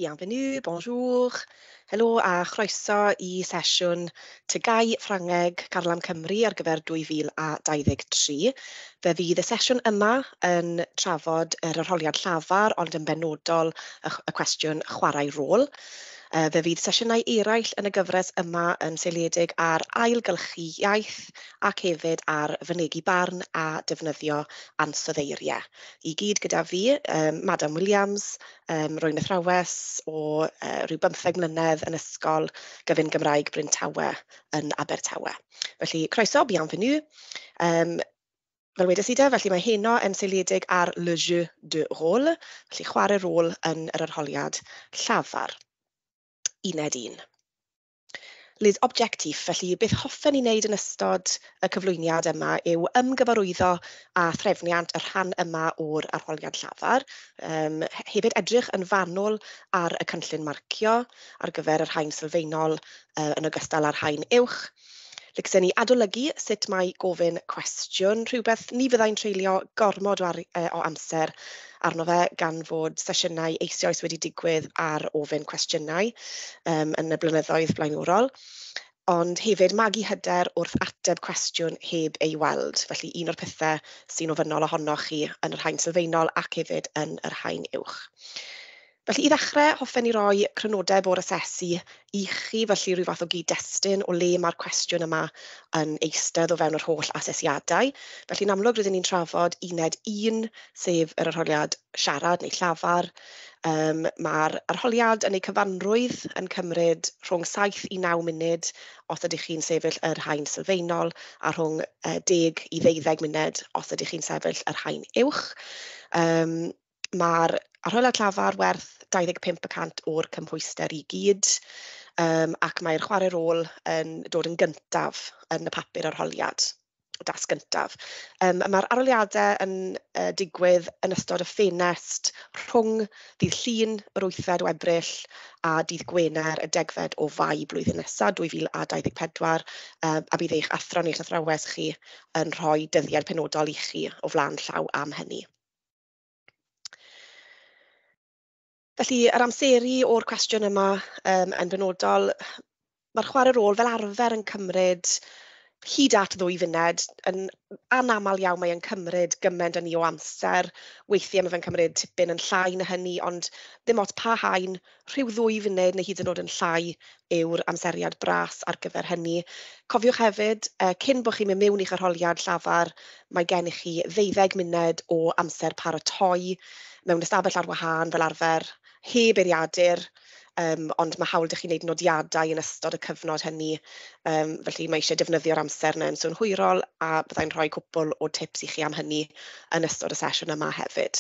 Bienvenue, bonjour, helo a chroeso i sesiwn TGAU Ffrangeg Carlam Cymru ar gyfer 2023. Fe fydd y sesiwn yma yn trafod yr arholiad llafar, ond yn benodol y cwestiwn chwarae rôl. Fe fydd sesiynau eraill yn y gyfres yma yn seiliedig ar ailgylchu iaith ac hefyd ar fynegi barn a defnyddio ansoddeiriau. I gyd gyda fi, Madam Williams, rwy'n athrawes o rhyw 15 mlynedd yn Ysgol Gyfun Gymraeg Bryn Tawe yn Abertawe. Felly, croeso, bienvenue. Fel wedes i de, felly mae heno yn seiliedig ar le jeu de rôle, felly chwarae rôl yn yr arholiad llafar. Uned 1. Les objectifs, felly beth hoffen ni wneud yn ystod y cyflwyniad yma yw ymgyfarwyddo â threfniant y rhan yma o'r arholiad llafar. Hefyd edrych yn fanwl ar y cynllun marcio ar gyfer yr haen sylfaenol yn ogystal â'r haen uwch. Licsen ni adolygu sut mae gofyn cwestiwn, rhywbeth ni fyddai'n treulio gormod o amser arno fe gan fod sesiynau eisoes wedi digwydd ar ofyn cwestiynau yn y blynyddoedd blaenorol, ond hefyd magu hyder wrth ateb cwestiwn heb ei weld. Felly un o'r pethau sy'n ofynnol ohonoch chi yn yr haen sylfaenol ac hefyd yn yr haen uwch. Felly i ddechrau, hoffen ni roi crynodeb o'r asesu i chi, felly rhyw fath o gyd-destun o le mae'r cwestiwn yma yn eistedd o fewn yr holl asesiadau. Felly yn amlwg rydyn ni'n trafod uned 1, sef yr arholiad siarad neu llafar. Mae'r arholiad yn ei cyfanrwydd yn cymryd rhwng 7 i 9 munud os ydych chi'n sefyll yr haen sylfaenol, a rhwng 10 i 12 munud os ydych chi'n sefyll yr haen uwch. Mae'r arholiad llafar werth 25% o'r cymhwyster i gyd, ac mae'r chwarae rôl yn dod yn gyntaf yn y papur arholiad, y dasg gyntaf. Mae'r arholiadau yn digwydd yn ystod y ffenest rhwng dydd Llun yr 8fed o Ebrill a dydd Gwener y 10fed o Fai blwyddyn nesaf, 2024, a bydd eich athro neu'ch athrawes chi yn rhoi dyddiad penodol i chi o flaen llaw am hynny. Felly, yr amseru o'r cwestiwn yma yn benodol, mae'r chwarae rôl fel arfer yn cymryd hyd at 2 funud. Yn anaml iawn mae e'n cymryd gymaint â ni o amser. Weithiau mae fe'n cymryd tipyn yn llai na hynny, ond ddim ots pa haen, rhyw 2 funud neu hyd yn oed yn llai yw'r amseriad bras ar gyfer hynny. Cofiwch hefyd, cyn bod chi'n mynd mewn i'ch arholiad llafar, mae gennych chi 12 munud o amser paratoi mewn ystafell ar wahân fel arfer, heb eiriadur, ond mae hawl 'da chi wneud nodiadau yn ystod y cyfnod hynny, felly mae eisiau defnyddio'r amser yna yn synhwyrol, a byddai'n rhoi cwpl o tips i chi am hynny yn ystod y sesiwn yma hefyd.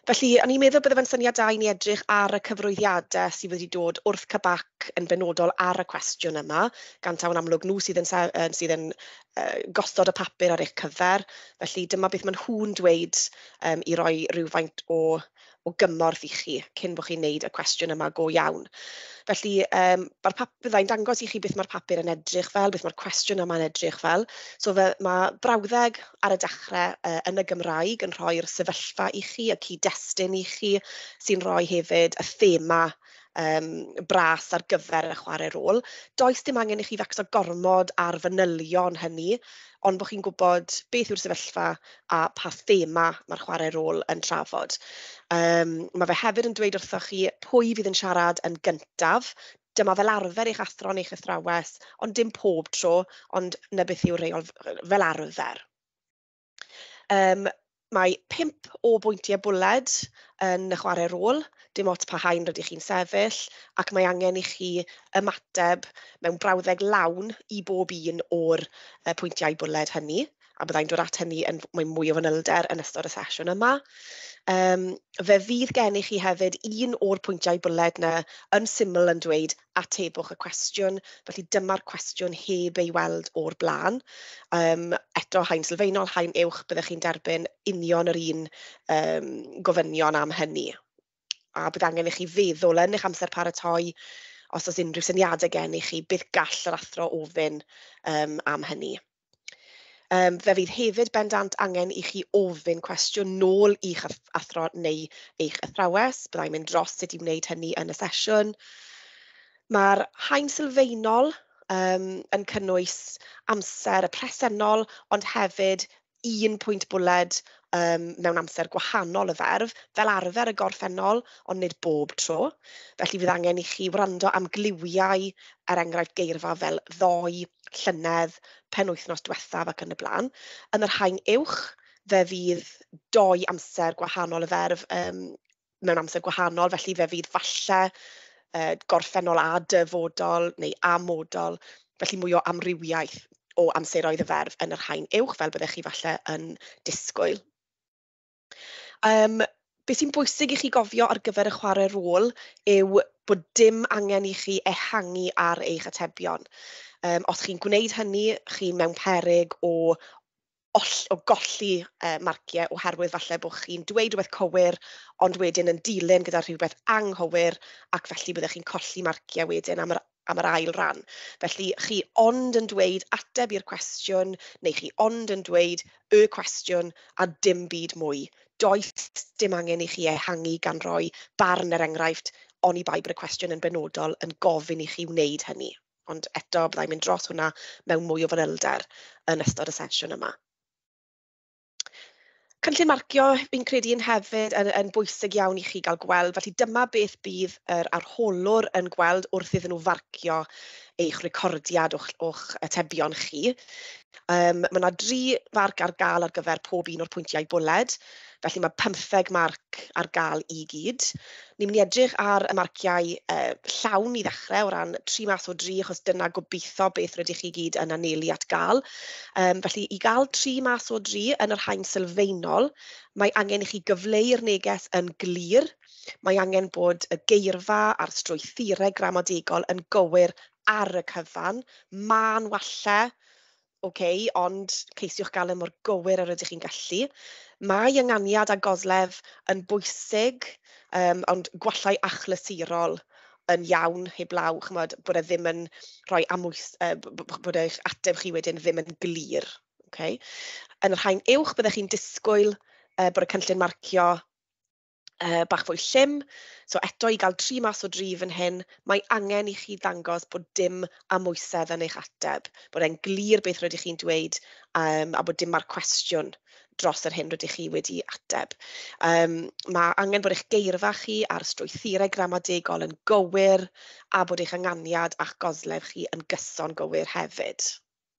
Felly, o'n i'n meddwl bydde fe'n syniad da i ni edrych ar y cyfrwyddiadau sydd wedi dod wrth CBAC yn benodol ar y cwestiwn yma, gan taw yn amlwg nhw sydd yn gosod y papur ar eich cyfer. Felly dyma beth maen nhw'n dweud i roi rhywfaint o gymorth i chi cyn bod chi'n neud y cwestiwn yma go iawn. Felly, byddai'n dangos i chi beth mae'r papur yn edrych fel, beth mae'r cwestiwn yma'n edrych fel. So mae brawddeg ar y dechrau yn y Gymraeg yn rhoi'r sefyllfa i chi, y cyd-destun i chi, sy'n rhoi hefyd y thema bras ar gyfer y chwarae rôl. Does dim angen i chi fecso gormod ar fanylion hynny, ond bod chi'n gwybod beth yw'r sefyllfa a pa thema mae'r chwarae rôl yn trafod. Mae fe hefyd yn dweud wrthoch chi pwy fydd yn siarad yn gyntaf. Dyma fel arfer eich athro neu'ch athrawes, ond dim pob tro, ond 'na beth yw'r rheol fel arfer. Mae 5 o bwyntiau bwled yn y chwarae rôl, dim ots pa haen rydych chi'n sefyll, ac mae angen i chi ymateb mewn brawddeg lawn i bob un o'r pwyntiau bwled hynny, a byddai'n dod at hynny yn mwy o fanylder yn ystod y sesiwn yma. Fe fydd gennych chi hefyd un o'r pwyntiau bwled yna yn syml yn dweud atebwch y cwestiwn, felly dyma'r cwestiwn heb ei weld o'r blaen. Eto, haen sylfaenol, haen uwch, byddech chi'n derbyn union yr un gofynion am hynny. A bydd angen i chi feddwl yn eich amser paratoi, os oes unrhyw syniadau gennych chi, beth gall yr athro ofyn am hynny. Fe fydd hefyd bendant angen i chi ofyn cwestiwn nôl i'ch athro neu eich athrawes. Byddai'n mynd dros sut i wneud hynny yn y sesiwn. Mae'r haen sylfaenol yn cynnwys amser y presennol, ond hefyd un pwynt bwled mewn amser gwahanol y ferf, fel arfer y gorffennol, ond nid bob tro. Felly fydd angen i chi wrando am gliwiau, er enghraifft geirfa fel ddoe, llynedd, penwythnos diwethaf ac yn y blaen. Yn yr haen uwch, fe fydd dou amser gwahanol y ferf mewn amser gwahanol, felly fe fydd falle gorffennol a dyfodol neu amodol, felly mwy o amrywiaeth o amseroedd y ferf yn yr haen uwch, fel byddech chi falle yn disgwyl. Beth sy'n bwysig i chi gofio ar gyfer y chwarae rôl yw bod dim angen i chi ehangu ar eich atebion. Os chi'n gwneud hynny, chi mewn peryg o golli marciau, oherwydd falle bod chi'n dweud rhywbeth cywir, ond wedyn yn dilyn gyda rhywbeth anghywir, ac felly byddech chi'n colli marciau wedyn am yr ail ran. Felly chi ond yn dweud ateb i'r cwestiwn, neu chi ond yn dweud y cwestiwn a dim byd mwy. Does dim angen i chi ehangu gan roi barn, er enghraifft, oni bai bod y cwestiwn yn benodol yn gofyn i chi wneud hynny. Ond eto, byddai'n mynd dros hwnna mewn mwy o fanylder yn ystod y sesiwn yma. Cynllun marcio, fi'n credu yn hefyd yn bwysig iawn i chi gael gweld, felly dyma beth bydd yr arholwr yn gweld wrth iddyn nhw farcio eich recordiad o'ch atebion chi. Mae yna 3 farc ar gael ar gyfer pob un o'r pwyntiau bwled, felly mae 15 marc ar gael i gyd. Ni'n mynd i edrych ar y marciau llawn i ddechrau o ran 3 mas o 3, achos dyna gobeithio beth rydych chi gyd yn anelu at gael. Felly i gael 3 mas o 3 yn yr haen sylfaenol, mae angen i chi gyfleu'r neges yn glir. Mae angen bod y geirfa a'r strwythurau gramadegol yn gywir ar y cyfan. Mân walle, okay, ond ceisiwch gael e mor gywir ar ydych chi'n gallu. Mae ynganiad a goslef yn bwysig, ond gwallau achlysurol yn iawn heblaw, chimod, bod e ddim yn rhoi amwys, bod eich ateb chi wedyn ddim yn glir. Okay. Yn yr haen uwch, byddech chi'n disgwyl bod y cynllun marcio bach fwy llym. So eto i gael 3 mas o 3 fan hyn, mae angen i chi ddangos bod dim amwysedd yn eich ateb, bod e'n glir beth rydych chi'n dweud, a bod dim marc cwestiwn dros yr hyn rydych chi wedi ateb. Mae angen bod eich geirfa chi a'r strwythurau gramadegol yn gywir, a bod eich ynganiad a'ch goslef chi yn gyson gywir hefyd.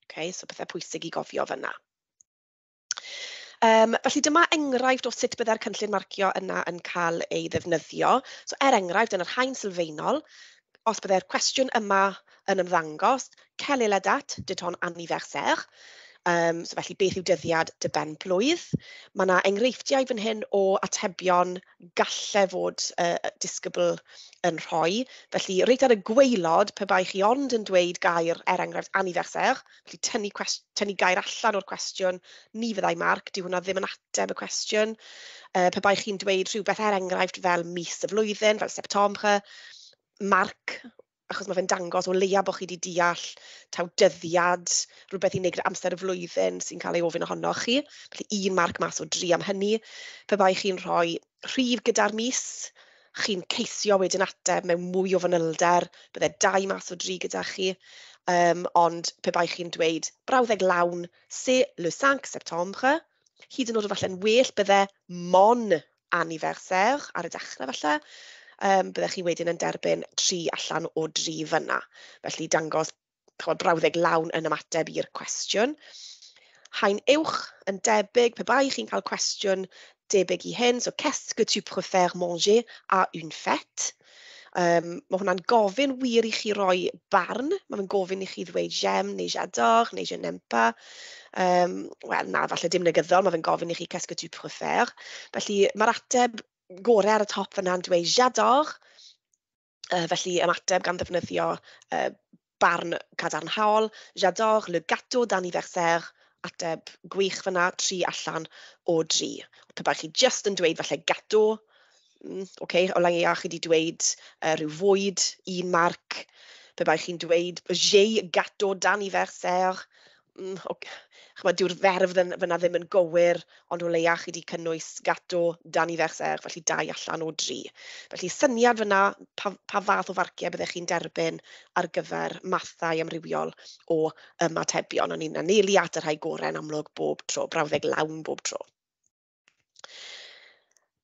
Okay, so pethau pwysig i gofio fyna. Felly dyma enghraifft o sut byddai'r cynllun marcio yna yn cael ei ddefnyddio. So er enghraifft, yn yr haen sylfaenol, os byddai'r cwestiwn yma yn ymddangos, quelle est la date de ton anniversaire? So felly beth yw dyddiad dy ben blwydd? Mae yna enghreifftiau fan hyn o atebion galle fod disgybl yn rhoi. Felly reit ar y gwaelod, pe bai chi ond yn dweud gair, er enghraifft anniversaire, felly tynnu gair allan o'r cwestiwn, ni fyddai marc, dyw hwnna ddim yn ateb y cwestiwn. Pe bai chi'n dweud rhywbeth er enghraifft fel mis y flwyddyn, fel Septembre, marc, achos mae fe'n dangos o leia bod chi wedi deall taw dyddiad, rhywbeth i wneud gyda amser y flwyddyn sy'n cael ei ofyn ohonoch chi. Felly 1 marc mas o 3 am hynny. Pe bai chi'n rhoi rhif gyda'r mis, chi'n ceisio wedyn ateb mewn mwy o fanylder, bydde 2 mas o 3 gyda chi. Ond pe bai chi'n dweud brawddeg lawn, c'est le 5 septembre, hyd yn oed falle'n well bydde mon anniversaire ar y dechrau falle. Byddech chi wedyn yn derbyn 3 allan o 3 fyna. Felly dangos brawddeg lawn yn ymateb i'r cwestiwn. Haen uwch yn debyg, pe bai chi'n cael cwestiwn debyg i hyn, so qu'est-ce que tu préfères manger à une fête? Mae hwnna'n gofyn wir i chi roi barn, mae fe'n gofyn i chi ddweud j'aime neu j'adore neu je n'aime pas. Wel na, falle dim negyddol, mae fe'n gofyn i chi qu'est-ce que tu préfères. Felly mae'r ateb gorau ar y top fyna'n dweud j'adore, felly ymateb gan ddefnyddio barn cadarnhaol, j'adore le gâteau d'anniversaire, ateb gwych fyna, 3 allan o 3. Pe bai chi jyst yn dweud falle gâteau, okay, o leia chi wedi dweud rhyw fwyd, 1 marc. Pe bai chi'n dweud j'ai gâteau d'anniversaire, okay. Chimod, dyw'r ferf fyna ddim yn gywir, ond o leia chi 'di cynnwys gâteau d'anniversaire, felly 2 allan o 3. Felly syniad fyna pa fath o farciau byddech chi'n derbyn ar gyfer mathau amrywiol o ymatebion. O'n i'n anelu at y rhai gorau yn amlwg bob tro, brawddeg lawn bob tro.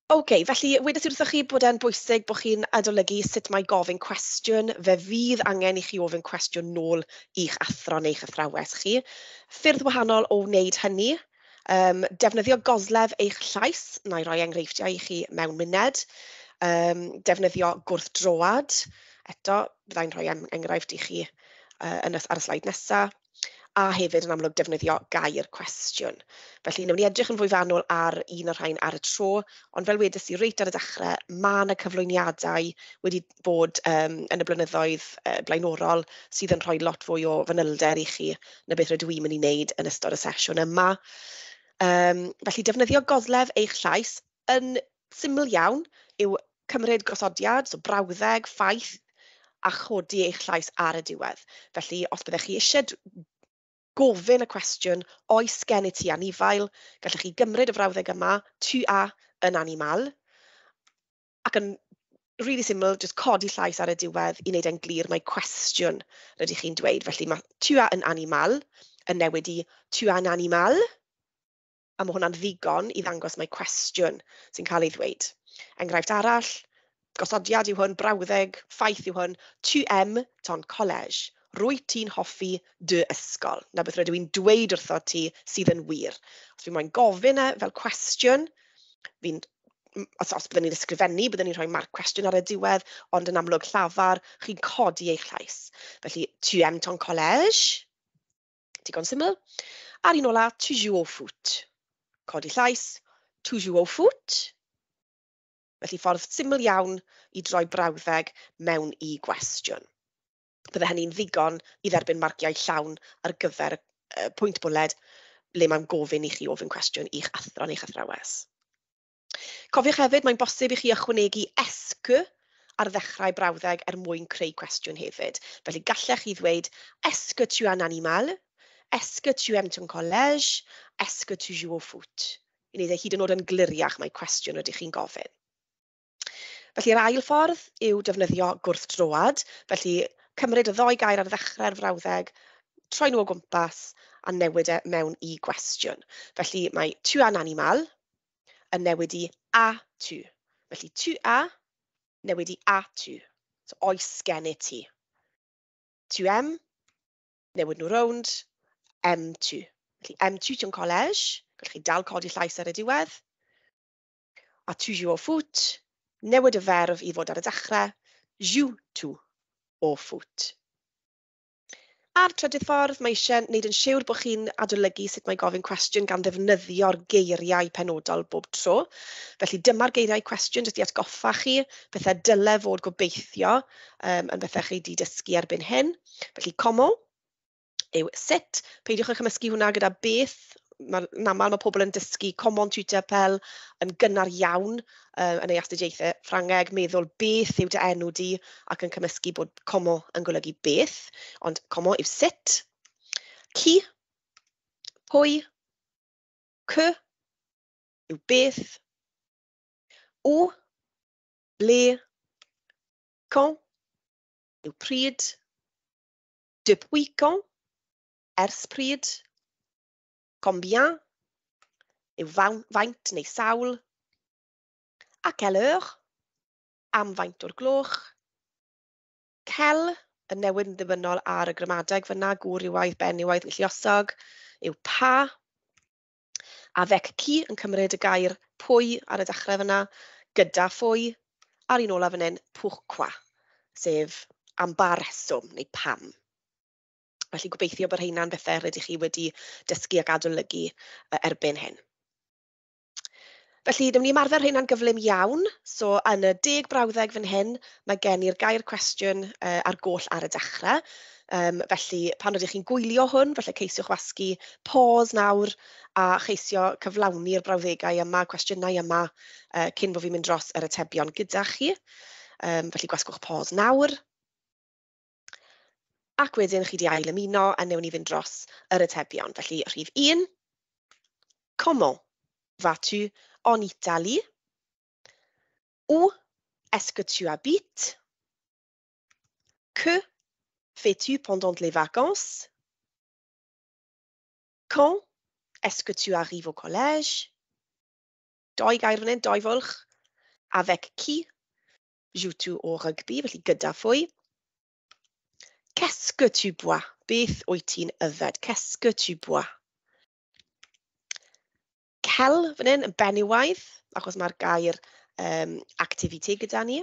OK, felly wedes i wrthoch chi bod e'n bwysig bod chi'n adolygu sut mae gofyn cwestiwn. Fe fydd angen i chi ofyn cwestiwn nôl i'ch athro neu'ch athrawes chi. Ffyrdd wahanol o wneud hynny. Defnyddio goslef eich llais, na i roi enghreifftiau i chi mewn muned. Defnyddio gwrthdroad, eto, byddai'n rhoi enghraifft i chi ar y sleid nesaf. A hefyd yn amlwg defnyddio gair cwestiwn. Felly wnawn ni edrych yn fwy fanwl ar un o'r rhain ar y tro, ond fel wedes i reit ar y dechrau, mae yna cyflwyniadau wedi bod yn y blynyddoedd blaenorol sydd yn rhoi lot fwy o fanylder i chi na beth rydw i'n mynd i wneud yn ystod y sesiwn yma. Felly defnyddio goslef eich llais yn syml iawn yw cymryd gosodiad, so brawddeg, ffaith, a chodi eich llais ar y diwedd. Felly os byddech chi eisiau gofyn y cwestiwn, oes gen i ti anifail, gallech chi gymryd y frawddeg yma, tu as un animal, ac yn really syml, jyst codi llais ar y diwedd i wneud e'n glir mai cwestiwn rydych chi'n dweud. Felly mae tu as un animal yn newid i tu as un animal, a mae hwnna'n ddigon i ddangos mai cwestiwn sy'n cael ei ddweud. Enghraifft arall, gosodiad yw hwn, brawddeg, ffaith yw hwn, tu aimes ton collège. Rwyt ti'n hoffi dy ysgol. Na beth rydw i'n dweud wrtho ti sydd yn wir. Os fi moyn gofyn e fel cwestiwn, os byddwn ni'n ysgrifennu, byddwn ni'n rhoi marc cwestiwn ar y diwedd, ond yn amlwg llafar, chi'n codi eich llais. Felly, tu aimes ton collège? Digon syml. A'r un ola, tu joues au foot. Codi llais, tu joues au foot. Felly ffordd syml iawn i droi brawddeg mewn i gwestiwn. Bydde hynny'n ddigon i dderbyn marciau llawn ar gyfer y pwynt bwled le mae'n gofyn i chi ofyn cwestiwn i'ch athro neu'ch athrawes. Cofiwch hefyd, mae'n bosib i chi ychwanegu est-ce que ar ddechrau brawddeg er mwyn creu cwestiwn hefyd. Felly gallech chi ddweud, est-ce que tu as un animal? Est-ce que tu aimes ton collège? Est-ce que tu joues au foot? I wneud e hyd yn oed yn gliriach mae cwestiwn rydych chi'n gofyn. Felly yr ail ffordd yw defnyddio gwrthdroad. Felly cymryd y ddou gair ar ddechrau'r frawddeg, troi nhw o gwmpas a newid e mewn i gwestiwn. Felly mae tu as un animal yn newid i as-tu. Felly tu as newid i as-tu. So oes gen i ti. Tu aimes, newid nhw rownd, aimes-tu. Felly aimes-tu ton collège, gallwch chi dal codi llais ar y diwedd. A tu joues au foot, newid y ferf i fod ar y dechrau, joues-tu au foot. A'r trydydd ffordd, mae eisiau gwneud yn siwr bod chi'n adolygu sut mae gofyn cwestiwn gan ddefnyddio'r geiriau penodol bob tro. Felly dyma'r geiriau cwestiwn, jyst i atgoffa chi, pethau dyle fod gobeithio yn bethau chi wedi dysgu erbyn hyn. Felly comment yw sut, peidiwch â chymysgu hwnna gyda beth. Yn aml mae pobl yn dysgu comment tu t'appelles yn gynnar iawn yn ei astudiaethau Ffrangeg, meddwl beth yw dy enw di ac yn cymysgu bod comment yn golygu beth, ond comment yw sut. Qui, pwy, que yw beth, où, ble, quand yw pryd, depuis quand, ers pryd, combien yw faint neu sawl, à quelle heure, am faint o'r gloch, quel yn newid yn ddibynnol ar y gramadeg fyna, gwrywaidd, benywaidd neu lluosog, yw pa, avec qui yn cymryd y gair pwy ar y dechrau fyna, gyda phwy, a'r un olaf fan hyn, pourquoi, sef am ba reswm neu pam. Felly gobeithio bod rheina'n bethau rydych chi wedi dysgu ac adolygu erbyn hyn. Felly, wnawn ni ymarfer rheina'n gyflym iawn. So, yn y 10 brawddeg fan hyn, mae gen i'r gair cwestiwn ar goll ar y dechrau. Felly, pan ydych chi'n gwylio hwn, felly ceisiwch wasgu pause nawr a cheisio cyflawni'r brawddegau yma, cwestiynau yma, cyn bod fi'n mynd dros yr atebion gyda chi. Felly, gwasgwch pause nawr. Ac wedyn chi 'di ail ymuno a newn ni fynd dros yr atebion. Felly rhif 1, comment vas-tu en Italie? Où est-ce que tu habites? Que fais-tu pendant les vacances? Quand est-ce que tu arrives au collège? Doi gair fan hyn, doi fwlch. Avec qui joues-tu au rugby? Felly gyda phwy? Qu'est-ce que tu bois? Beth wyt ti'n yfed? Qu'est-ce que tu bois? Quel fan hyn yn benywaidd, achos mae'r gair activité gyda ni.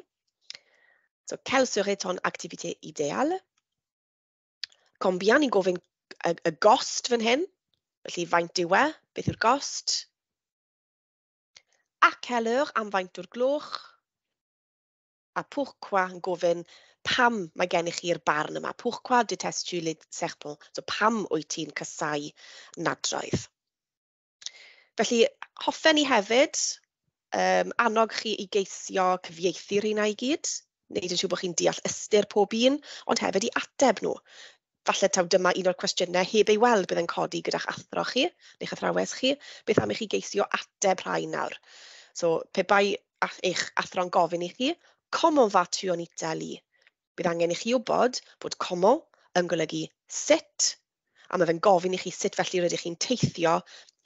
So, quelle serait ton activité idéale? Combien, ni'n gofyn y gost fan hyn. Felly, faint yw e? Beth yw'r gost? À quelle heure, am faint o'r gloch? A pourquoi yn gofyn pam mae gennych chi'r barn yma. Pourquoi détestes-tu les serpents? So pam wyt ti'n casáu nadroedd? Felly, hoffen ni hefyd annog chi i geisio cyfieithu'r rheina i gyd, wneud yn siŵr bod chi'n deall ystyr pob un, ond hefyd i ateb nhw. Falle taw dyma un o'r cwestiynau heb ei weld bydd yn codi gyda'ch athro chi, neu'ch athrawes chi. Beth am i chi geisio ateb rhai nawr? So, pe bai eich athro'n gofyn i chi, comment vas-tu en Italie? Bydd angen i chi wybod bod comment yn golygu sut, a mae fe'n gofyn i chi sut felly rydych chi'n teithio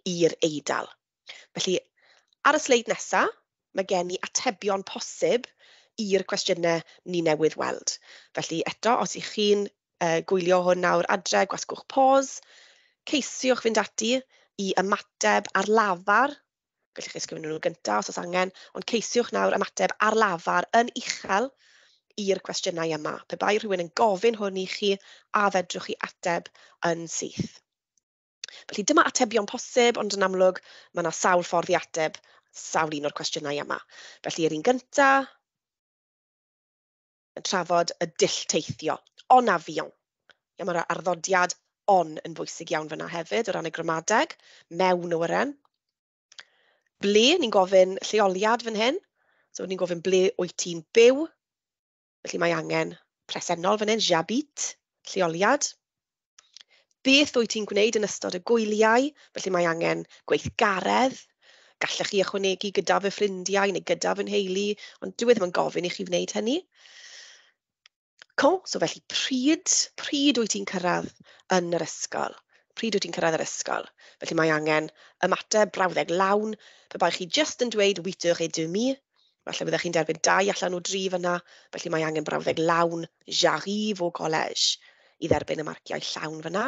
i'r Eidal. Felly, ar y sleid nesaf, mae gen i atebion posib i'r cwestiynau ni newydd weld. Felly eto, os ych chi'n gwylio hwn nawr adre, gwasgwch pause, ceisiwch fynd ati i ymateb ar lafar. Gallwch chi ysgrifennu nhw gyntaf os oes angen, ond ceisiwch nawr ymateb ar lafar yn uchel i'r cwestiynau yma. Pe bai rhywun yn gofyn hwn i chi, a fedrwch chi ateb yn syth. Felly dyma atebion posib, ond yn amlwg mae yna sawl ffordd i ateb sawl un o'r cwestiynau yma. Felly yr un gyntaf yn trafod y dull teithio, en avion. Ia, mae'r arddodiad on yn bwysig iawn fyna hefyd o ran y gramadeg, mewn awyren. Ble, ni'n gofyn lleoliad fan hyn. So ni'n gofyn ble wyt ti'n byw. Felly mae angen presennol fan hyn, j'habite, lleoliad. Beth wyt ti'n gwneud yn ystod y gwyliau? Felly mae angen gweithgaredd. Gallech chi ychwanegu gyda fy ffrindiau neu gyda fy nheulu, ond dyw e ddim yn gofyn i chi wneud hynny. Quand, so felly pryd wyt ti'n cyrraedd yn yr ysgol? Pryd wyt ti'n cyrraedd yr ysgol? Felly mae angen ymateb brawddeg lawn. Pe bai chi jyst yn dweud huit heures et demie, falle byddech chi'n derbyn 2 allan o 3 fyna. Felly mae angen brawddeg lawn, j'arrive au collège, i dderbyn y marciau llawn fyna.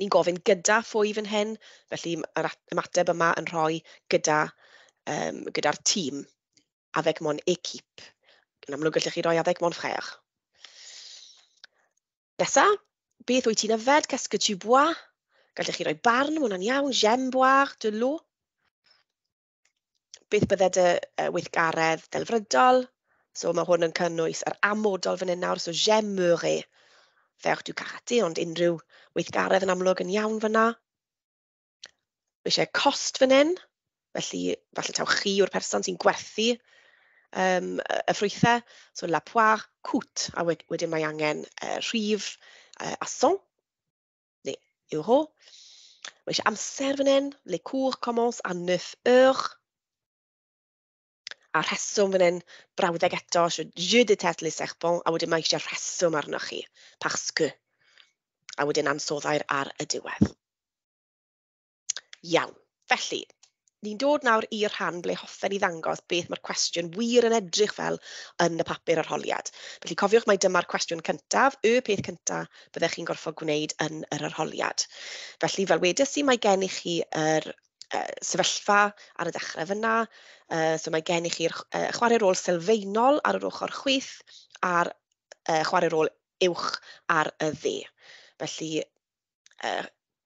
Ni'n gofyn gyda phwy fan hyn, felly yr ymateb yma yn rhoi gyda'r tîm, avec mon équipe. Yn amlwg gallech chi roi avec mon frère. Nesa, beth wyt ti'n yfed? Qu'est-ce que tu bois? Gallech chi roi barn, ma' hwnna'n iawn. J'aime boire de l'eau. Beth bydde dy weithgaredd delfrydol? So mae hwn yn cynnwys yr amodol fan hyn nawr. So j'aimerais faire du karaté, ond unrhyw weithgaredd yn amlwg yn iawn fyna. Mae eisiau cost fan hyn, felly falle taw chi yw'r person sy'n gwerthu y ffrwythau. So la poire coûte, a wedyn mae angen rhif a cent, neu euro. Mae eisiau amser fan hyn, les cours commencent à neuf heures. A rheswm fan hyn, brawddeg eto, so je déteste les serpents, a wedyn mae eisiau rheswm arnoch chi, parce que. A wedyn ansoddair ar y diwedd. Iawn, felly, ni'n dod nawr i'r rhan ble hoffen ni ddangos beth mae'r cwestiwn wir yn edrych fel yn y papur arholiad. Felly cofiwch mai dyma'r cwestiwn cyntaf, y peth cyntaf byddech chi'n gorfod gwneud yn yr arholiad. Felly, fel wedes i, mae gennych chi yr sefyllfa ar y dechrau fyna. So mae gennych chi'r chwarae rôl sylfaenol ar yr ochr chwith a'r chwarae rôl uwch ar y dde. Felly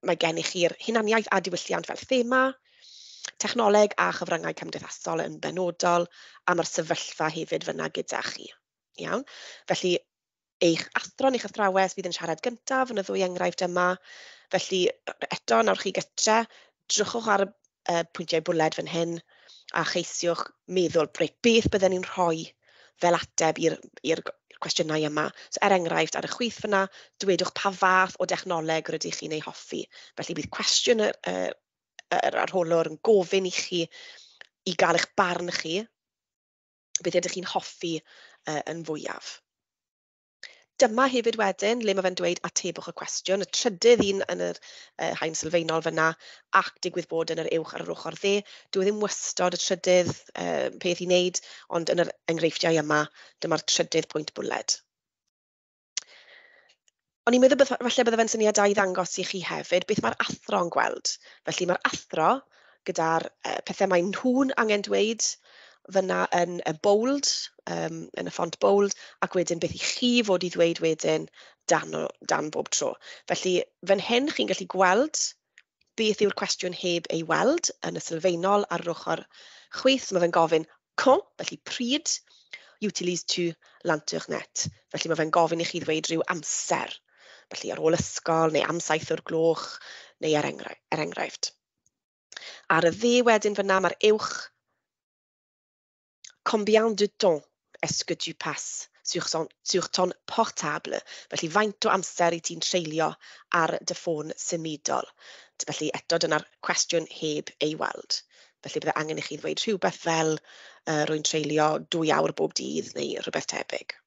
mae gennych chi'r hunaniaeth a diwylliant fel thema, technoleg a chyfryngau cymdeithasol yn benodol, a mae'r sefyllfa hefyd fyna gyda chi. Iawn? Felly, eich athro neu'ch athrawes fydd yn siarad gyntaf yn y ddwy enghraifft yma. Felly, eto, nawr chi gytre, drychwch ar y pwyntiau bwled fan hyn a cheisiwch meddwl, reit, beth bydden ni'n rhoi fel ateb i'r cwestiynau yma. So er enghraifft, ar y chwith fyna, dwedwch pa fath o dechnoleg rydych chi'n ei hoffi. Felly bydd cwestiwn yr arholwr yn gofyn i chi i gael eich barn chi, beth ydych chi'n hoffi yn fwyaf. Dyma hefyd wedyn le mae fe'n dweud atebwch y cwestiwn, y trydydd un yn yr haen sylfaenol fyna, ac digwydd bod yn yr uwch ar yr ochr dde. Dyw e ddim wastod y trydydd peth i wneud, ond yn yr enghreifftiau yma, dyma'r trydydd pwynt bwled. O'n i'n meddwl falle bydde fe'n syniad da i ddangos i chi hefyd beth mae'r athro yn gweld. Felly mae'r athro gyda'r pethau mae nhw'n angen dweud fyna yn y bold, yn y ffont bold, ac wedyn beth i chi fod i ddweud wedyn dan bob tro. Felly fan hyn chi'n gallu gweld beth yw'r cwestiwn heb ei weld yn y sylfaenol ar yr ochr chwith. Mae fe'n gofyn quand, felly pryd, utilises-tu l'internet. Felly mae fe'n gofyn i chi ddweud rhyw amser. Felly ar ôl ysgol neu am 7 o'r gloch neu er enghraifft. Ar y dde wedyn fyna mae'r uwch. Combien de temps est-ce que tu passes sur ton portable? Felly faint o amser i ti'n treulio ar dy ffôn symudol? Felly eto dyna'r cwestiwn heb ei weld. Felly bydde angen i chi ddweud rhywbeth fel rwy'n treulio 2 awr bob dydd neu rhywbeth tebyg.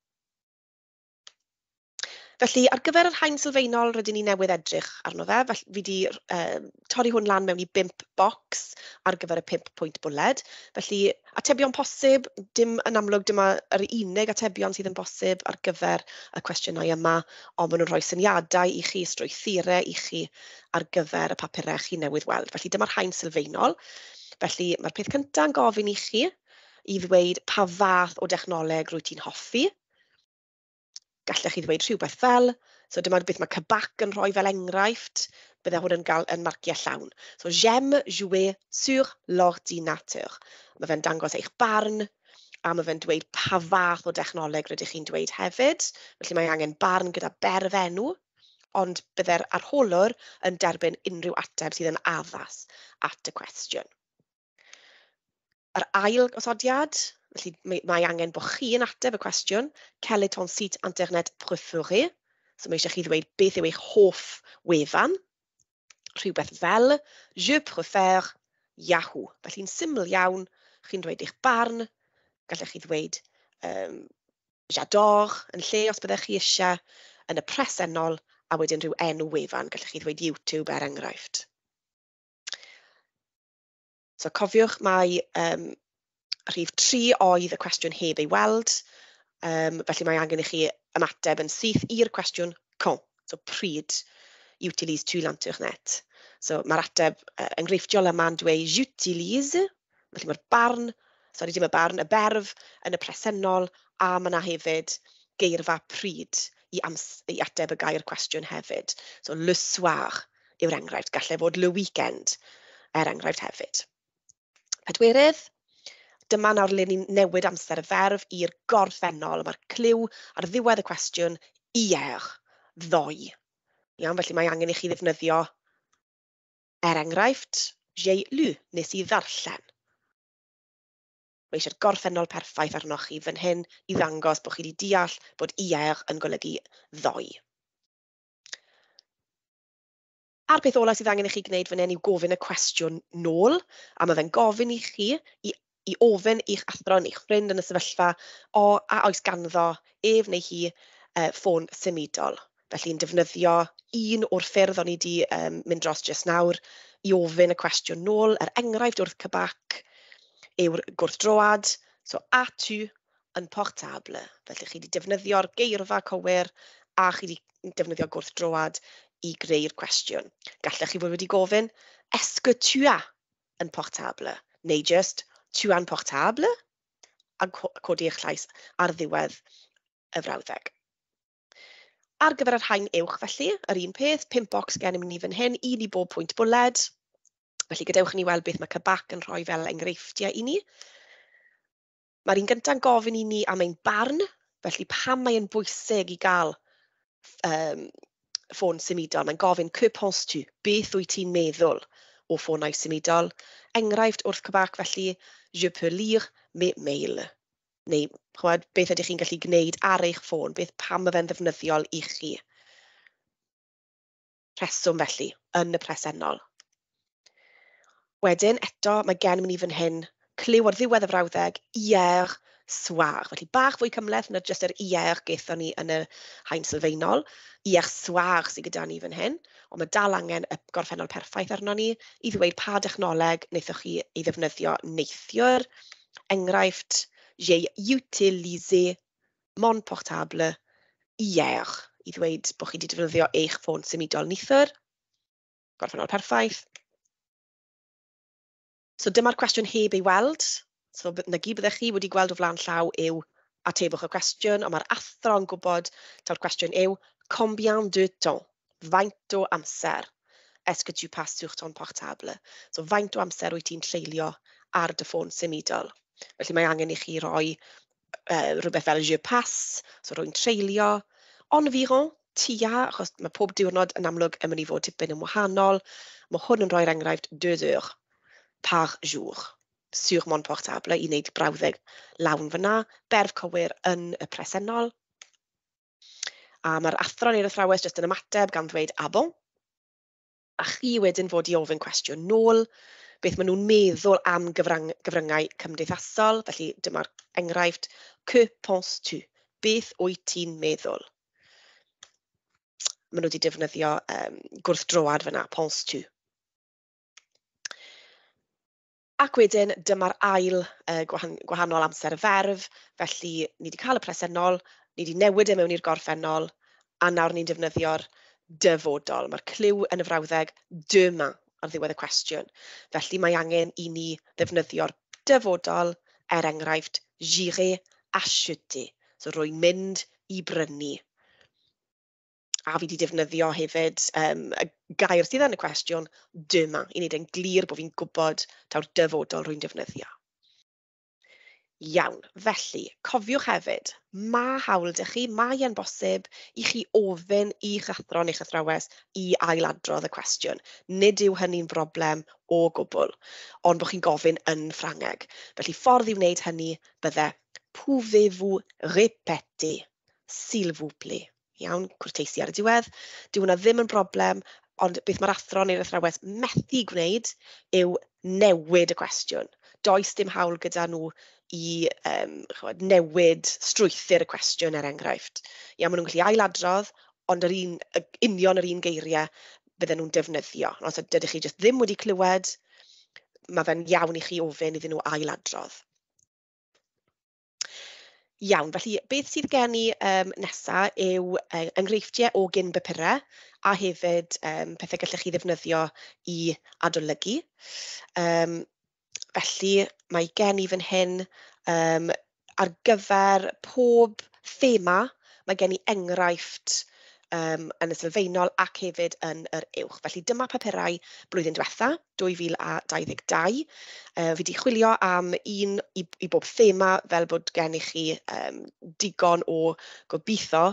Felly ar gyfer yr haen sylfaenol rydyn ni newydd edrych arno fe, felly fi wedi torri hwn lan mewn i 5 bocs ar gyfer y 5 pwynt bwled. Felly atebion posib, dim yn amlwg dyma yr unig atebion sydd yn bosib ar gyfer y cwestiynau yma, ond maen nhw'n rhoi syniadau i chi, strwythurau i chi ar gyfer y papurau chi newydd weld. Felly dyma'r haen sylfaenol. Felly mae'r peth cyntaf yn gofyn i chi i ddweud pa fath o dechnoleg rwyt ti'n hoffi. Gallech chi ddweud rhywbeth fel, so dyma beth mae Cabac yn rhoi fel enghraifft, bydde hwn yn gael yn marciau llawn. So j'aime jouer sur l'ordinateur. Mae fe'n dangos eich barn, a mae fe'n dweud pa fath o dechnoleg rydych chi'n dweud hefyd. Felly mae angen barn gyda berfenw, ond bydde'r arholwr yn derbyn unrhyw ateb sydd yn addas at y cwestiwn. Yr ail gosodiad, felly mae angen bod chi yn ateb y cwestiwn, quel est ton site internet préféré? So mae eisiau chi ddweud beth yw eich hoff wefan, rhywbeth fel je préfère Yahoo. Felly'n syml iawn, chi'n dweud eich barn, gallech chi ddweud j'adore yn lle os byddech chi eisiau, yn y presennol, a wedyn rhyw enw wefan, gallech chi ddweud YouTube er enghraifft. So cofiwch mai rhif 3 oedd y cwestiwn heb ei weld, felly mae angen i chi ymateb yn syth i'r cwestiwn quand, so pryd utilises-tu l'internet. So mae'r ateb enghreifftiol yma'n dweud j'utilise, felly mae'r barn, sori dim y barn, y berf yn y presennol, a mae yna hefyd geirfa pryd i ateb y gair cwestiwn hefyd. So le soir yw'r enghraifft, gallai fod le weekend er enghraifft hefyd. Pedwerydd, dyma nawr le ni'n newid amser y ferf i'r gorffennol. Mae'r cliw ar ddiwedd y cwestiwn, hier, ddoe. Iawn, felly mae angen i chi ddefnyddio, er enghraifft, j'ai lu, nes i ddarllen. Mae eisiau'r gorffennol perffaith arnoch chi fan hyn i ddangos bod chi wedi deall bod hier yn golygu ddoe. A'r peth ola sydd angen i chi gwneud fan hyn yw gofyn y cwestiwn nôl, a mae fe'n gofyn i chi i ofyn i'ch athro neu'ch ffrind yn y sefyllfa o a oes ganddo ef neu hi ffôn symudol. Felly'n defnyddio un o'r ffyrdd o'n i wedi mynd dros jyst nawr i ofyn y cwestiwn nôl. Er enghraifft wrth Cabac yw'r gwrthdroad, so as-tu un portable. Felly chi wedi defnyddio'r geirfa cywir a chi wedi defnyddio gwrthdroad i greu'r cwestiwn. Gallech chi fod wedi gofyn, est-ce que tu as un portable? Neu just, tu as un portable? A codi eich llais ar ddiwedd y frawddeg. Ar gyfer yr haen uwch felly, yr un peth, 5 bocs gennym ni fan hyn, un i bob pwynt bwled. Felly gadewch i ni weld beth mae Cabac yn rhoi fel enghreifftiau i ni. Mae'r un gyntaf yn gofyn i ni am ein barn, felly pam mae'n bwysig i gael ffôn symudol. Mae'n gofyn, que penses-tu? Beth wyt ti'n meddwl o ffonau symudol? Enghraifft wrth Cabac felly, je peux lire mes mails. Neu, ch'mod, beth ydych chi'n gallu gwneud ar eich ffôn, beth pam mae fe'n ddefnyddiol i chi. Rheswm felly, yn y presennol. Wedyn, eto, mae gennym ni fan hyn cliw ar ddiwedd y frawddeg, hier soir. Felly bach fwy cymhleth na jyst yr hier gaethon ni yn y haen sylfaenol. Hier soir sydd gyda ni fan hyn, ond mae dal angen y gorffennol perffaith arno ni i ddweud pa dechnoleg wnaethoch chi ei ddefnyddio neithiwr. Enghraifft, j'ai utilisé mon portable hier, i ddweud bod chi wedi defnyddio eich ffôn symudol neithiwr. Gorffennol perffaith. So dyma'r cwestiwn heb ei weld. So 'na gyd byddech chi wedi gweld o flaen llaw yw atebwch y cwestiwn, ond mae'r athro yn gwybod taw'r cwestiwn yw combien de temps? Faint o amser est-ce que tu passes sur ton portable? So faint o amser wyt ti'n treulio ar dy ffôn symudol? Felly mae angen i chi roi rhywbeth fel je passe, so rwy'n treulio, environ, tua, achos mae pob diwrnod yn amlwg yn mynd i fod tipyn yn wahanol. Mae hwn yn rhoi'r enghraifft 2 heures par jour sur mon portable i wneud brawddeg lawn fyna, berf cywir yn y presennol. A mae'r athro neu'r athrawes jyst yn ymateb gan ddweud "ah bon?" A chi wedyn fod i ofyn cwestiwn nôl, beth maen nhw'n meddwl am gyfryngau cymdeithasol. Felly dyma'r enghraifft, que penses-tu? Beth wyt ti'n meddwl? Maen nhw wedi defnyddio gwrthdroad fyna, penses-tu. Ac wedyn dyma'r ail gwahanol amser y ferf, felly ni wedi cael y presennol, ni wedi newid e mewn i'r gorffennol, a nawr ni'n defnyddio'r dyfodol. Mae'r cliw yn y frawddeg demain ar ddiwedd y cwestiwn. Felly mae angen i ni ddefnyddio'r dyfodol, er enghraifft, j'irai acheter. So rwy'n mynd i brynu. A fi wedi defnyddio hefyd y gair sydd yn y cwestiwn, demain, i wneud e'n glir bod fi'n gwybod taw'r dyfodol rwy'n defnyddio. Iawn, felly cofiwch hefyd, mae hawl 'da chi, mae e'n bosib i chi ofyn i'ch athro neu'ch athrawes i ailadrodd y cwestiwn. Nid yw hynny'n broblem o gwbl, ond bod chi'n gofyn yn Ffrangeg. Felly ffordd i wneud hynny bydde pouvez-vous répéter, s'il vous plaît? Iawn, cwrteisi ar y diwedd. Dyw hwnna ddim yn broblem, ond beth mae'r athro neu'r athrawes methu gwneud yw newid y cwestiwn. Does dim hawl gyda nhw i ch'mod, newid strwythur y cwestiwn er enghraifft. Ia, maen nhw'n gallu ailadrodd, ond yr un, y, union yr un geiriau bydden nhw'n defnyddio. Os ydych chi jyst ddim wedi clywed, mae fe'n iawn i chi ofyn iddyn nhw ailadrodd. Iawn, felly beth sydd gen i nesa yw enghreifftiau o gyn bapurau a hefyd pethau gallech chi ddefnyddio i adolygu. Felly mae gen i fan hyn ar gyfer pob thema, mae gen i enghraifft yn y sylfaenol ac hefyd yn yr uwch. Felly dyma papurau blwyddyn diwetha, 2022. Fi wedi chwilio am un i bob thema fel bod gennych chi digon o gobeithio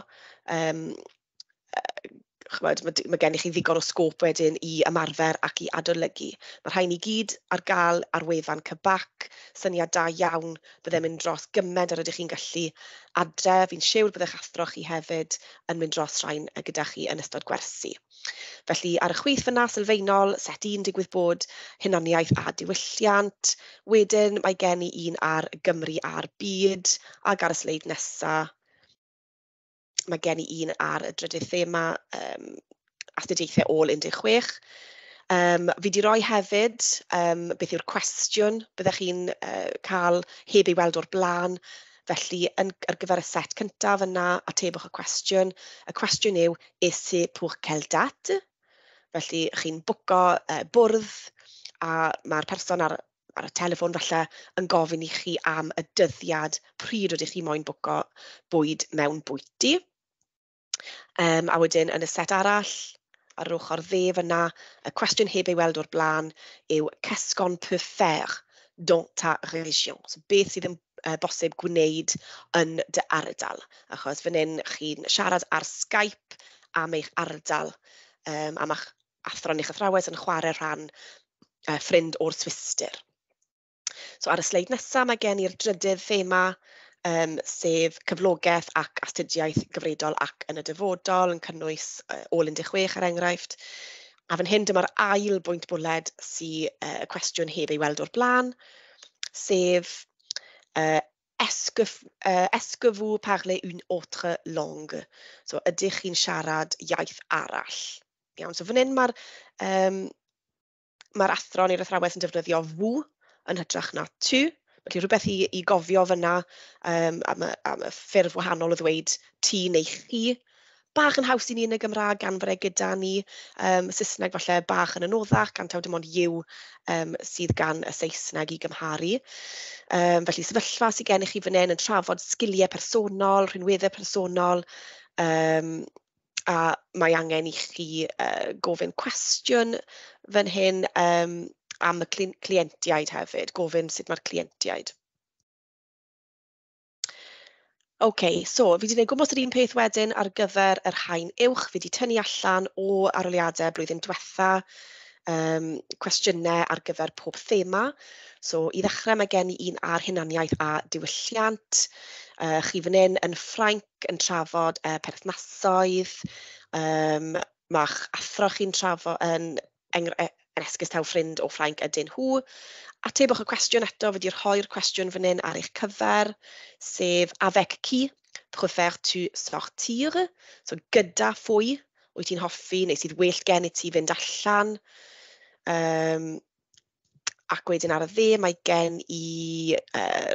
ch'mod, mae gennych chi ddigon o sgôp wedyn i ymarfer ac i adolygu. Mae rhain i gyd ar gael ar wefan CBAC, syniad da iawn byddai'n mynd dros gymaint ar ydych chi'n gallu adre. Fi'n siwr byddai'ch athro chi hefyd yn mynd dros rhain gyda chi yn ystod gwersi. Felly ar y chwith fyna sylfaenol, set 1 digwydd bod hunaniaeth a diwylliant. Wedyn mae gen i un ar Gymru a'r byd, ac ar y sleid nesa mae gen i un ar y drydydd thema, astudiaethau ôl 16. Fi 'di roi hefyd beth yw'r cwestiwn byddech chi'n cael heb ei weld o'r blaen. Felly ar gyfer y set cyntaf yna, atebwch y cwestiwn. Y cwestiwn yw, et c'est pour quelle date? Felly chi'n bwco bwrdd a mae'r person ar y teleffon falle yn gofyn i chi am y dyddiad pryd rydych chi moyn bwco bwyd mewn bwyty. A wedyn yn y set arall, ar yr ochr dde fyna, y cwestiwn heb ei weld o'r blaen yw qu'est-ce qu'on peut faire dans ta région? So beth sydd yn bosib gwneud yn dy ardal? Achos fan hyn chi'n siarad ar Skype am eich ardal, am eich athro neu'ch athrawes yn chwarae rhan ffrind o'r Swistir. So ar y sleid nesaf mae gen i'r drydydd thema, sef cyflogaeth ac astudiaeth gyfredol ac yn y dyfodol, yn cynnwys ôl 16 er enghraifft. A fan hyn dyma'r ail bwynt bwled sy y cwestiwn heb ei weld o'r blaen, sef "Est-ce que vous parlez une autre langue?" So ydych chi'n siarad iaith arall? Iawn, so fan hyn mae'r ma athro neu'r athrawes yn defnyddio "vous" yn hytrach na "tu". Felly rhywbeth i gofio fyna am y ffurf wahanol o ddweud ti neu chi. Bach yn haws i ni yn y Gymraeg gan fod e gyda ni. Saesneg falle bach yn anoddach gan taw dim ond "you" sydd gan y Saesneg i gymharu. Felly sefyllfa sydd gennych chi fan hyn yn trafod sgiliau personol, rhinweddau personol, a mae angen i chi gofyn cwestiwn fan hyn am y cleientiaid hefyd, gofyn sut mae'r cleientiaid. OK, so fi wedi gwneud gwmws yr un peth wedyn ar gyfer yr haen uwch. Fi wedi tynnu allan o arholiadau blwyddyn diwetha cwestiynau ar gyfer pob thema. So i ddechrau mae gen i un ar hunaniaeth a diwylliant. Chi fan hyn yn Ffrainc yn trafod perthnasoedd. Mae'ch athro chi'n trafod yn esgus taw ffrind o Ffrainc ydyn nhw. Atebwch y cwestiwn eto, fi wedi rhoi'r cwestiwn fan hyn ar eich cyfer, sef "Avec qui préfères-tu sortir?" So gyda phwy wyt ti'n hoffi neu sydd well gen i ti fynd allan? Ac wedyn ar y dde mae gen i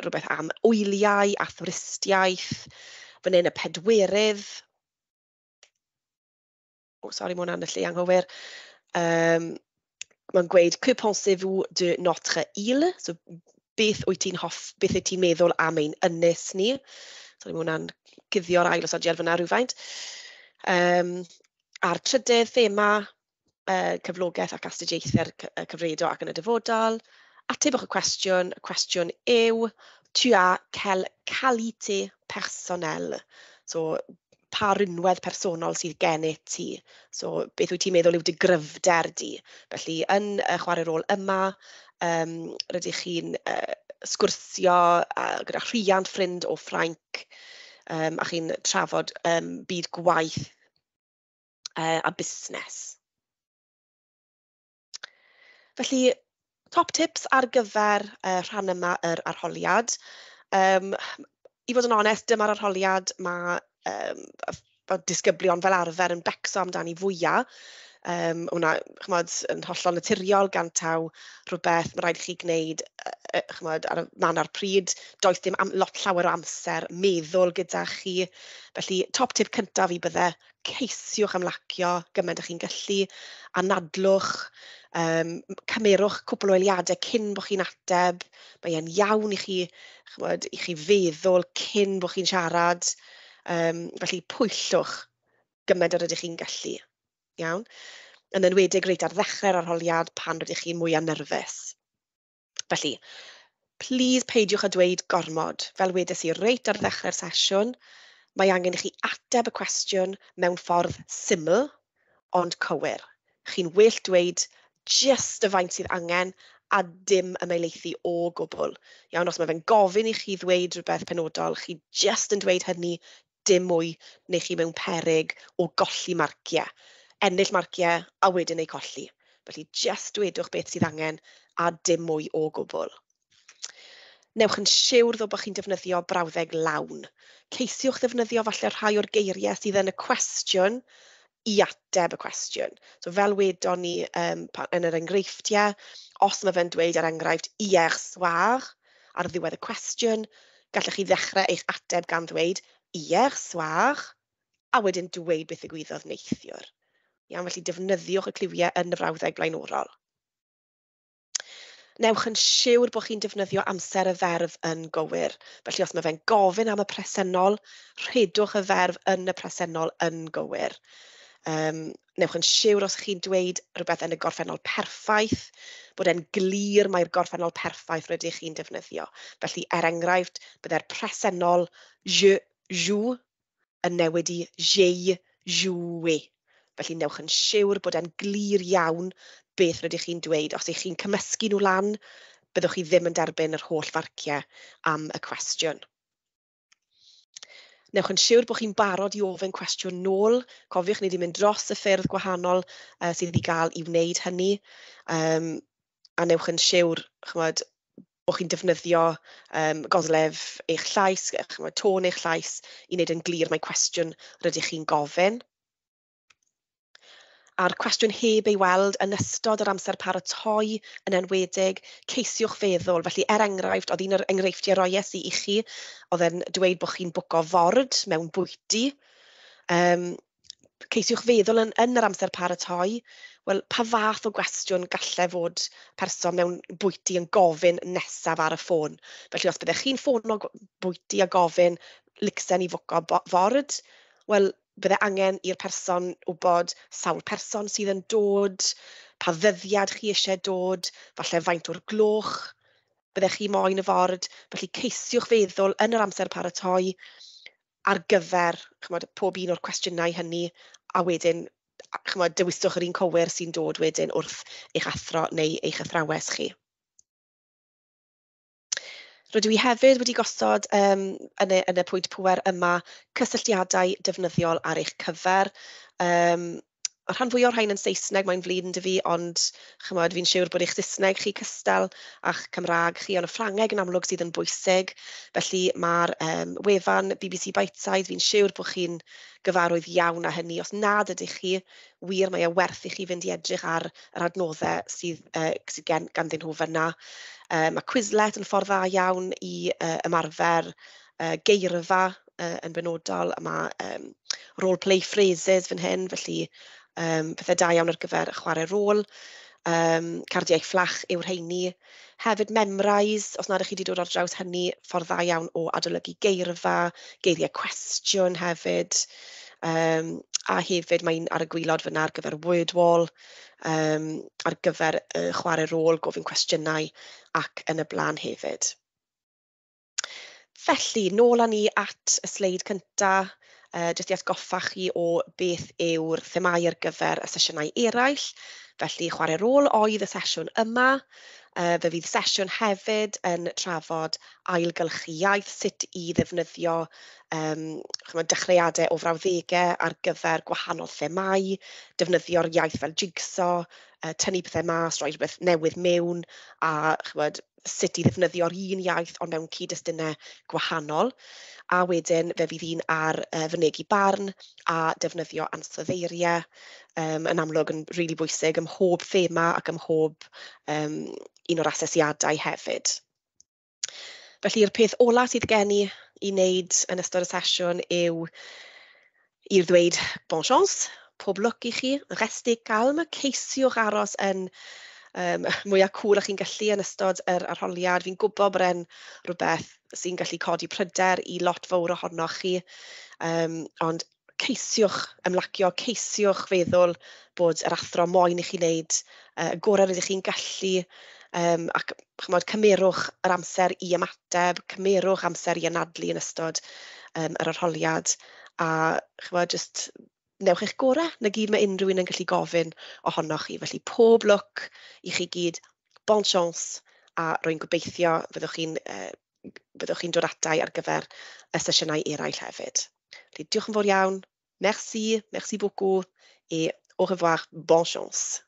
rhywbeth am wyliau a thwristiaeth. Fan hyn y pedwerydd. O, sori, mae hwnna'n y lle anghywir. Mae'n gweud "Que pensez-vous de notre île?" So beth wyt ti'n meddwl am ein ynys ni? Sorry, mae hwnna'n cuddio'r ail osodiad fyna rhywfaint. A'r trydydd thema, cyflogaeth ac astudiaethau'r cyfredol ac yn y dyfodol. Atebwch y cwestiwn. Y cwestiwn yw, "Tu as quelle qualité personnelle?" So, pa rinwedd personol sydd gennyt ti? So, beth wyt ti'n meddwl yw dy gryfder di? Felly, yn y chwarae rôl yma, rydych chi'n sgwrsio gyda rhiant ffrind o Ffrainc, a chi'n trafod byd gwaith a busnes. Felly, top tips ar gyfer rhan yma yr arholiad. I fod yn onest, dyma'r arholiad mae disgyblion fel arfer yn becso amdani fwyaf. Hwnna, ch'mod, yn hollol naturiol gan taw rhywbeth mae rhaid i chi gwneud ch'mod, ar y man a'r pryd. Does dim lot llawer o amser meddwl gyda chi. Felly, top tip cyntaf fi bydde ceisiwch ymlacio gymaint â chi'n gallu, anadlwch, cymerwch cwpl o eiliadau cyn bod chi'n ateb. Mae e'n iawn i chi, ch'mod, i chi feddwl cyn bod chi'n siarad. Felly pwyllwch gymaint â rydych chi'n gallu. Iawn? Yn enwedig reit ar ddechrau'r arholiad pan rydych chi'n mwyaf nerfus. Felly, plis peidiwch â dweud gormod. Fel wedes i reit ar ddechrau'r sesiwn, mae angen i chi ateb y cwestiwn mewn ffordd syml, ond cywir. Chi'n well dweud jyst y faint sydd angen a dim ymhelaethu o gwbl. Iawn, os mae fe'n gofyn i chi ddweud rhywbeth penodol, chi jyst yn dweud hynny, dim mwy, neu chi mewn peryg o golli marciau. Ennill marciau a wedyn eu colli. Felly jyst dwedwch beth sydd angen a dim mwy o gwbl. Newch yn siwr ddo bod chi'n defnyddio brawddeg lawn. Ceisiwch ddefnyddio falle rhai o'r geiriau sydd yn y cwestiwn i ateb y cwestiwn. So fel wedon ni yn yr enghreifftiau, os mae fe'n dweud er enghraifft "hier soir" ar ddiwedd y cwestiwn, gallech chi ddechrau eich ateb gan ddweud "hier soir" a wedyn dweud beth ddigwyddodd neithiwr. Iawn, felly defnyddiwch y cliwiau yn y frawddeg blaenorol. Newch yn siwr bod chi'n defnyddio amser y ferf yn gywir. Felly os mae fe'n gofyn am y presennol, rhedwch y ferf yn y presennol yn gywir. Newch yn siwr os chi'n dweud rhywbeth yn y gorffennol perffaith, bod e'n glir mai'r gorffennol perffaith rydych chi'n defnyddio. Felly, er enghraifft, byddai'r presennol "je joue" yn newid i "j'ai joué". Felly, newch yn siwr bod e'n glir iawn beth rydych chi'n dweud. Os ych chi'n cymysgu nhw lan, byddwch chi ddim yn derbyn yr holl farciau am y cwestiwn. Newch yn siwr bod chi'n barod i ofyn cwestiwn nôl. Cofiwch, ni wedi mynd dros y ffyrdd gwahanol sydd wedi gael i wneud hynny. A newch yn siwr, chimod, bod chi'n defnyddio goslef eich llais, chimod, tôn eich llais i wneud yn glir mai cwestiwn rydych chi'n gofyn. A'r cwestiwn heb ei weld yn ystod yr amser paratoi yn enwedig, ceisiwch feddwl. Felly, er enghraifft, oedd un o'r enghreifftiau roies i chi, oedd e'n dweud bod chi'n bwco ford mewn bwyty. Ceisiwch feddwl yn yr amser paratoi, wel, pa fath o gwestiwn gallai fod person mewn bwyty yn gofyn nesaf ar y ffôn? Felly, os byddech chi'n ffono bwyty a gofyn licsen i fwco ford, wel, bydde angen i'r person wybod sawl person sydd yn dod, pa ddyddiad chi eisiau dod, falle faint o'r gloch byddech chi moyn y ford. Felly ceisiwch feddwl yn yr amser paratoi ar gyfer, chimod, pob un o'r cwestiynau hynny, a wedyn, chimod, dewiswch yr un cywir sy'n dod wedyn wrth eich athro neu eich athrawes chi. Rydw i hefyd wedi gosod yn y pwynt pŵer yma cysylltiadau defnyddiol ar eich cyfer. Y rhan fwyaf o'r rhain yn Saesneg, mae'n flin 'da fi, ond chimod, fi'n siŵr bod eich Saesneg chi cystal a'ch Cymraeg chi, ond y Ffrangeg yn amlwg sydd yn bwysig. Felly mae'r wefan BBC Bitesize, fi'n siŵr bod chi'n gyfarwydd iawn â hynny. Os nad ydych chi, wir mae e werth i chi fynd i edrych ar yr adnoddau sydd ganddyn nhw fyna. Mae Quizlet yn ffordd dda iawn i ymarfer geirfa yn benodol. Mae role-play phrases fan hyn, felly pethau da iawn ar gyfer chwarae rôl. Cardiau fflach yw'r rheini. Hefyd Memrise, os nad ydych chi wedi dod ar draws hynny, ffordd dda iawn o adolygu geirfa, geiriau cwestiwn hefyd. A hefyd mae'n ar y gwaelod fyna ar gyfer Wordwall, ar gyfer chwarae rôl, gofyn cwestiynau ac yn y blaen hefyd. Felly, nôl â ni at y sleid cynta, jyst i atgoffa chi o beth yw'r themâu ar gyfer y sesiynau eraill. Felly, chwarae rôl oedd y sesiwn yma. Fe fydd sesiwn hefyd yn trafod ailgylchu iaith, sut i ddefnyddio chimod, dechreuadau o frawddegau ar gyfer gwahanol themâu, defnyddio'r iaith fel jigsaw, tynnu pethau mas, rhoi rhywbeth newydd mewn, a chimod, sut i ddefnyddio'r un iaith ond mewn cyd-destunau gwahanol. A wedyn fe fydd un ar fynegi barn a defnyddio ansoddeiriau, yn amlwg yn rili bwysig ym mhob thema ac ym mhob un o'r asesiadau hefyd. Felly'r peth ola sydd gen i i wneud yn ystod y sesiwn yw i'r ddweud bon chance, pob lwc i chi, restez calme, ceisiwch aros yn mwyaf cŵl â chi'n gallu yn ystod yr arholiad. Fi'n gwybod bod e'n rhywbeth sy'n gallu codi pryder i lot fawr ohonoch chi, ond ceisiwch ymlacio, ceisiwch feddwl bod yr athro moyn i chi wneud y gorau rydych chi'n gallu, ac chimod, cymerwch yr amser i ymateb, cymerwch amser i anadlu yn ystod yr arholiad, a chimod, jyst newch eich gorau, na gyd mae unrhyw un yn gallu gofyn ohonoch chi. Felly pob lwc i chi gyd, bon chance, a rwy'n gobeithio fyddwch chi'n dod atai ar gyfer y sesiynau eraill hefyd. Felly diolch yn fawr iawn, merci, merci beaucoup, et au revoir, bonne chance.